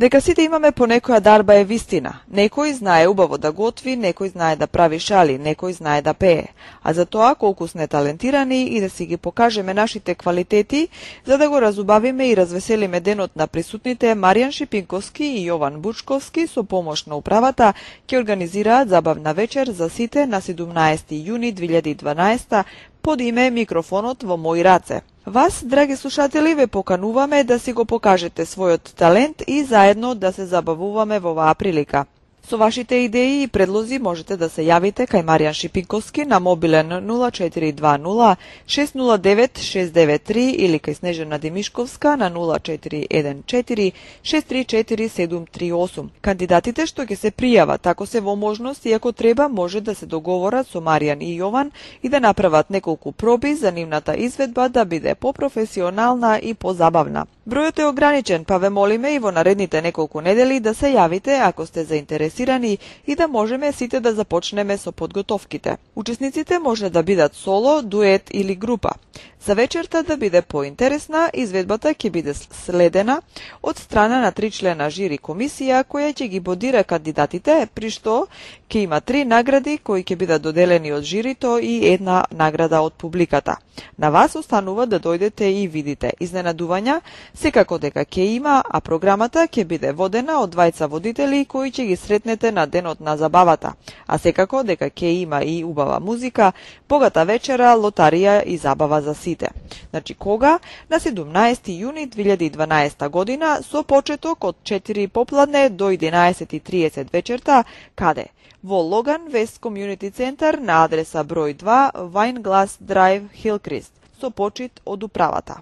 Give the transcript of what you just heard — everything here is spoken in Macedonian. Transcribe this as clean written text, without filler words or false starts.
Дека сите имаме по некоја дарба е вистина. Некој знае убаво да готви, некој знае да прави шали, некој знае да пее. А за тоа колку сме талентирани и да си ги покажеме нашите квалитети, за да го разубавиме и развеселиме денот на присутните, Маријан Шипинковски и Јован Бучковски со помош на управата ќе организираат забавна вечер за сите на 17 јуни 2012 под име Микрофонот во мои раце. Вас, драги слушатели, ве покануваме да си го покажете својот талент и заедно да се забавуваме во оваа прилика. Со вашите идеи и предлози можете да се јавите кај Маријан Шипинковски на мобилен 0420 609 693 или кај Снежана Димишковска на 0414 634 738. Кандидатите што ќе се пријават, ако се во можност и ако треба, може да се договорат со Маријан и Јован и да направат неколку проби за нивната изведба да биде попрофесионална и позабавна. Бројот е ограничен, па ве молиме и во наредните неколку недели да се јавите ако сте заинтересирани и да можеме сите да започнеме со подготовките. Учесниците може да бидат соло, дует или група. За вечерта да биде поинтересна, изведбата ќе биде следена од страна на 3-члена жири комисија која ќе ги бодира кандидатите, при што ќе има 3 награди кои ќе бидат доделени од жирито и една награда од публиката. На вас останува да дојдете и видите изненадувања, секако дека ќе има, а програмата ќе биде водена од двајца водители кои ќе ги сретнете на денот на забавата, а секако дека ќе има и убава музика, богата вечера, лотарија и забава за сите. Значи кога? На 17 јуни 2012 година со почеток од 4 попладне до 11:30 вечерта, каде? Во Логан Вест Community Center на адреса број 2 Вајнглас Драйв, Хилкрист, со почит од управата.